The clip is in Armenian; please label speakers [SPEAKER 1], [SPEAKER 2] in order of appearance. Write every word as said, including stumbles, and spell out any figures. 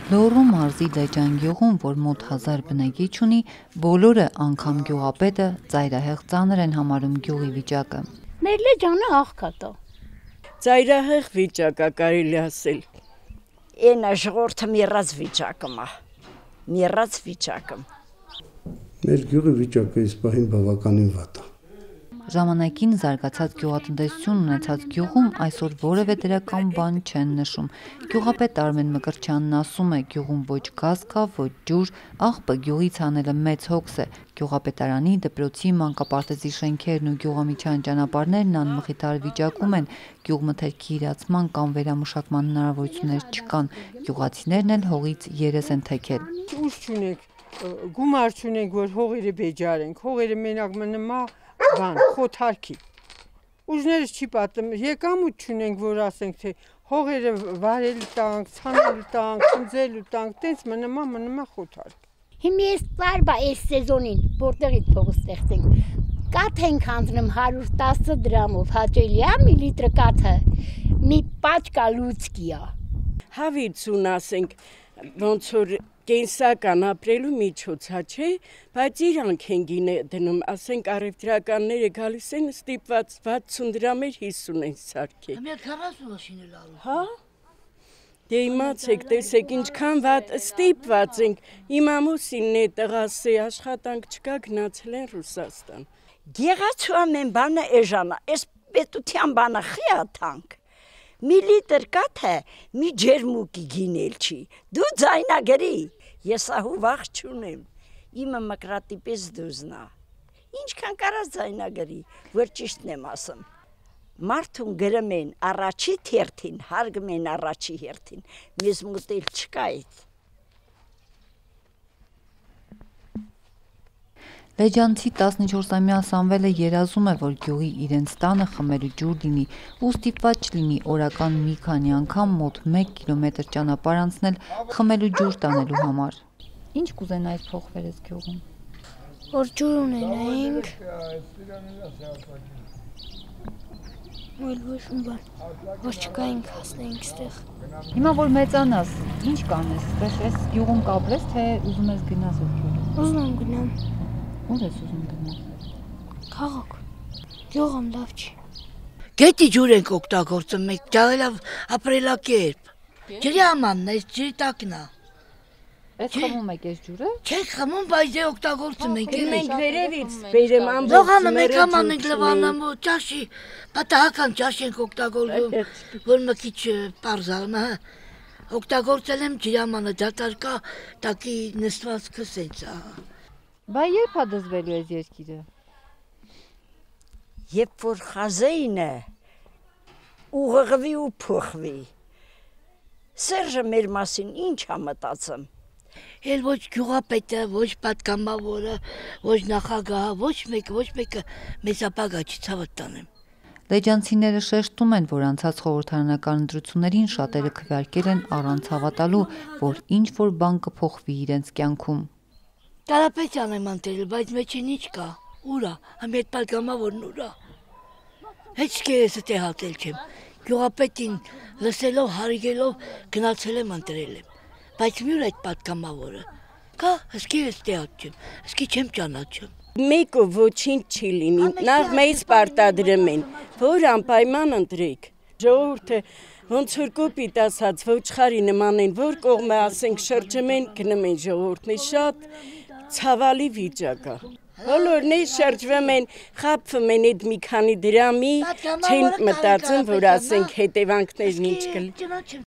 [SPEAKER 1] Լոռու մարզի Լեջան գյուղում, որ մոտ հազար բնակիչ ունի, բոլորը, անգամ գյուղապետը, ծայրահեղ ծանր են համարում գյուղի վիճակը։
[SPEAKER 2] Մեր Լեջանը աղքատ է։
[SPEAKER 3] Ծայրահեղ վիճակ է, կարելի ասել։
[SPEAKER 4] Էնա ժողովուրդը մեռած վիճակում է։ Մեռած վիճակում։
[SPEAKER 5] Մեր գյուղի վիճակը այս պահին բավականին վատ է։
[SPEAKER 1] Ժամանակին զարգացած գյուղատնտեսություն ունեցած գյուղում այսօր որևէ դրական բան չեն նշում։ Գյուղապետ Արմեն Մկրտչյանն ասում է, գյուղում ոչ գազ կա, ոչ ջուր, աղբը գյուղից անելը մեծ հոգս է։ Գյուղապետարանի, դպրոցի, մանկապարտեզի շենքերն ու գյուղամիջյան ճանապարհներն անմխիթար վիճակում են, գյուղմթերքի իրացման կամ վերամշակման հնարավորություններ չկան, գյուղացիներն էլ հողից երես են թեքել։
[SPEAKER 3] Ուժ չունենք, գումար չունենք, որ հողերը բեջարենք, հողերը մենակ մնա բան, խոթարքի։ Ուժներս չի պատում, եկամուտ չունենք, որ ասենք, թե հողերը վարել տանք, ցանել տանք, ծնձել տանք, տենց մնամա, մնամա խոթարք։
[SPEAKER 2] Հիմա ես տարբա այս սեզոնին, որտեղից փող ստեղծենք, կաթ ենք հանձնում հարյուր տասը դրամով, հաճելի է մի լիտր կաթը, մի պաճկա լուծկի է։
[SPEAKER 3] Հավիցուն ասենք, ոնց որ կենսական ապրելու միջոցա չէ, բայց իրանք են գինե դնում, ասենք առևտրականները գալիս են ստիպված վաթսուն դրամեր հիսուն են սարքել։
[SPEAKER 6] Համյա քառասուն մաշին էլ ալու։
[SPEAKER 3] Հա։ Դե իմացեք, տեսեք ինչքան վատ ստիպված ենք, իմ ամուսինն է տղաս է, աշխատանք չկա, գնացել են Ռուսաստան։
[SPEAKER 4] Գեղացու ամեն բանը էժանա, այս պետության բանը խիաթանք։ Մի լիտր կաթը մի ջերմուկի գինել չի, դու ձայնագրի, ես ահու վաղ չունեմ, իմը մկրատի պես դուզնա, ինչքան կարաս ձայնագրի, որ ճիշտն եմ ասում, մարդուն գրում են առաջի թերթին, հարգում են առաջի հերթին, մեզ մուտել չկա այդ։
[SPEAKER 1] Լեջանցի տասնչորսամյա Սամվելը երազում է, որ գյուղի իրենց տանը խմելու ջուր լինի ու ստիպված չլինի օրական մի քանի անգամ մոտ մեկ կիլոմետր ճանապարհ անցնել խմելու ջուր տանելու համար։ Ինչ կուզենայիք փոխվեր այս գյուղում։
[SPEAKER 7] Որ ջուր ունենայինք։ Ոլ ոչ մի բան, որ չկայինք հասնեինք ստեղ։
[SPEAKER 1] Հիմա որ մեծանաս, ինչ կանես, այս գյուղում կապրես, թե ուզում ես գնաս այդ գյուղ։
[SPEAKER 7] Ուզում եմ գնամ։
[SPEAKER 1] Ուր ես ուզում գնալ։
[SPEAKER 7] Քաղաք։ Գյուղում լավ չի։
[SPEAKER 6] Գետի ջուր ենք օգտագործում մենք, ջավելավ ապրելակերպ։ Ջրի ամանն է, ջրի տակն է։
[SPEAKER 1] Էս խմում եք այս ջուրը։
[SPEAKER 6] Չենք խմում, բայց դե օգտագործում ենք։
[SPEAKER 3] Մենք վերևից բերեմ ամբողջ։
[SPEAKER 6] Լողանը մեկ աման ենք լվանում, ճաշի, պատահական ճաշ ենք օգտագործում, որ մի քիչ պարզալն է։ Օգտագործել եմ ջրի ամանը, դատարկ է, տակի նստվածքը սենց է։
[SPEAKER 1] Բա երբ է դզվելու այս երկիրը։
[SPEAKER 4] Երբ որ խազեինը ուղղվի ու փոխվի։ Սերժը մեր մասին ինչ է մտածում։
[SPEAKER 6] Էլ ոչ գյուղապետը, ոչ պատգամավորը, ոչ նախագահը, ոչ մեկը, ոչ մեկը մեզ ապագա չի ցավոտ տանեմ։
[SPEAKER 1] Լեջանցիները շեշտում են, որ անցած խորհրդարանական ընտրություններին շատերը քվեարկել են առանց հավատալու, որ ինչ որ բան կփոխվի իրենց կյանքում։
[SPEAKER 6] Կարապետյան եմ անտերել, բայց մեջին ինչ կա, ուրա, համ ետ պատգամավորն ուրա։ Հետ շկերեսը տեղատել չեմ, գյուղապետին լսելով, հարիգելով գնացել եմ անտրել եմ, բայց մյուր այդ պատգամավորը, կա, հսկերես տեղատ չեմ, հսկի չեմ ճանաչում։
[SPEAKER 3] Մեկը ոչինչ չի լինի, նախ մեզ պարտադրում են, որ անպայման ընտրեք, ժողովուրդը ոնց որ կոպիտ ասած ոչխարի նման են, որ կողմը ասենք շրջում են, գնում են ժողովուրդն է շատ ցավալի վիճակ է։ Բոլորն է շրջվում են, խաբվում են այդ մի քանի դրամի, չեն մտածում, որ ասենք հետևանքներն ինչ կլինի։